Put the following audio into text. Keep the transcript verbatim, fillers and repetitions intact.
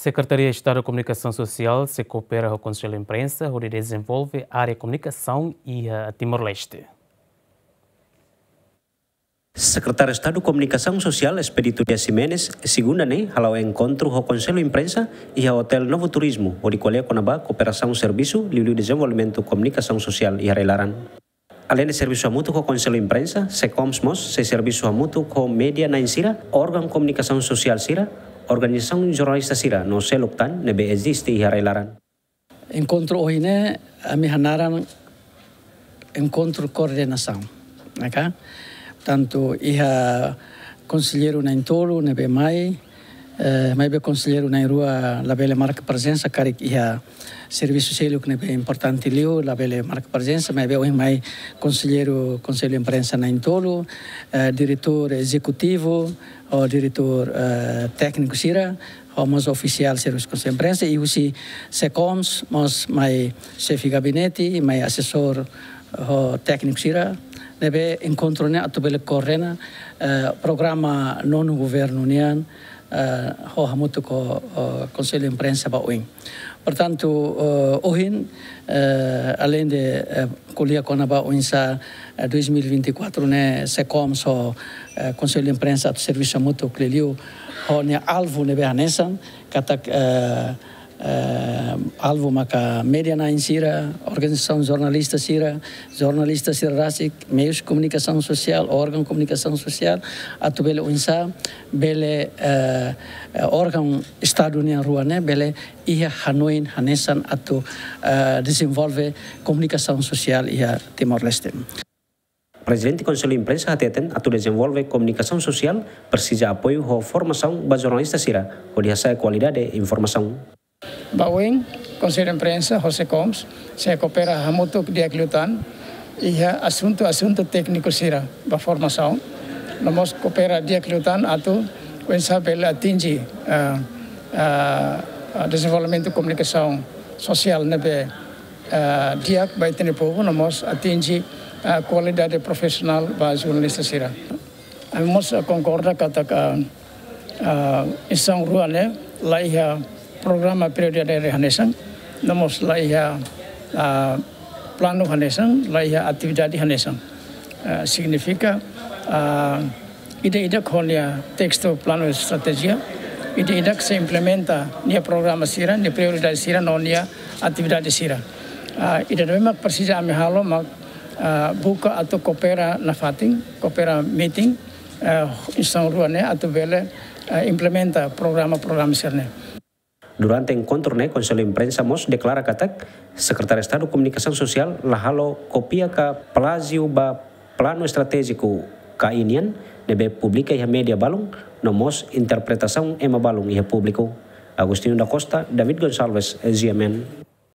Sekretaria Estadu Komunikasaun Sosiál sei koopera ho Konsellu Imprensa hodi dezenvolve área komunikasaun iha Timor-Leste. Sekretáriu Estadu Komunikasaun Sosiál Expedito Dias Ximenes, segunda ne'e, hala'o enkontru ho Konsellu Imprensa iha Hotel Novo Turismo, hodi ko'alia kona-ba kooperasaun servisu liuliu dezenvolvimentu komunikasaun sosiál iha rai-laran. Aleinde servisu hamutuk ho Konsellu Imprensa, SEKOMS mós sei servisu hamutuk ho média na'in sira, órgaun komunikasaun sosiál sira, organizasaun jornalista sira no seluk tan ne'ebé eziste iha rai-laran. Enkontru ohin ne'e, ami hanaran enkontru koordenasaun, ya kan? Tantu iha konselleiru na'in-tolu ne'ebé mai, eh, maibé konselleiru na'in-rua labele marka prezensa karik iha servisu seluk ne'ebé importante liu, labele marka prezensa, maibé ohin mai konselleiru Konsellu Imprensa na'in-tolu, eh, diretór ezekutivu, ho diretór, eh, tékniku sira, ho mós ofisiál servisu Konsellu Imprensa, i husi SEKOMS mós mai xefe gabinete, mai asesór ho tékniku sira, ne'ebé enkontru ne'e atu bele koordena, eh, programa nonu governu nian, eh, ho hamutuk ho, eh, Konsellu Imprensa ba oin. Portantu, eh, ohin, eh, aleinde, eh, ko'alia kona-ba oinsá, eh, dois mil e vinte e quatro ne'e SEKOMS ho, eh, Konsellu Imprensa atu servisu hamutuk liuliu ho nia alvu ne'ebé hanesan, katak, eh, eh, alvu maka média na'in sira, organizasaun jornalista sira, jornalista sira rasik, meius komunikasaun sosiál, órgaun komunikasaun sosiál, atu bele oinsá, bele, eh, eh, órgaun Estadu nian rua ne'e, bele iha hanoin hanesan atu, eh, dezenvolve komunikasaun sosiál iha Timor-Leste. Prezidente Konsellu Imprensa hateten atu dezenvolve komunikasaun sosiál presiza apoiu ho formasaun ba jornalista sira, hodi hasa'e kualidade informasaun. Ba oin, Konsellu Imprensa ho SEKOMS sei koopera hamutuk di'ak liután iha asuntu-asuntu tékniku sira ba formasaun. No mós koopera di'ak liután atu oinsá bele atinje, ah, ah, ah, dezenvolvimentu komunikasaun sosiál ne'ebé, ah, di'ak ba ita-nia povu, no mós atinje, ah, kualidade profisionál ba jornalista sira. Ami mós, ah, konkorda katak, ah, ah, instituisaun rua ne'e la iha programa prioridade hanesan, no mós la iha, ah, planu hanesan, la iha atividade hanesan. Ah, signifika, ah, ida-idak ho nia testu planu estratéjia, ida-idak sei implementa nia programa sira, nia prioridade sira, no nia atividade sira. Ah, ida-ne'e mak presiza ami halo mak, ah, buka atu koopera nafatin, koopera metin, ah, instituisaun rua ne'e atu bele, ah, implementa programa-programa sira-ne'e. Durante enkontru ne'e, Konsellu Imprensa mós deklara katak Sekretáriu Estadu Komunikasaun Sosiál la halo kópia ka plájiu ba planu estratéjiku K I nian ne'ebé publika iha média balun, no mós interpretasaun ema balun iha públiku. Agostinho da Costa, David Gonçalves, G M N.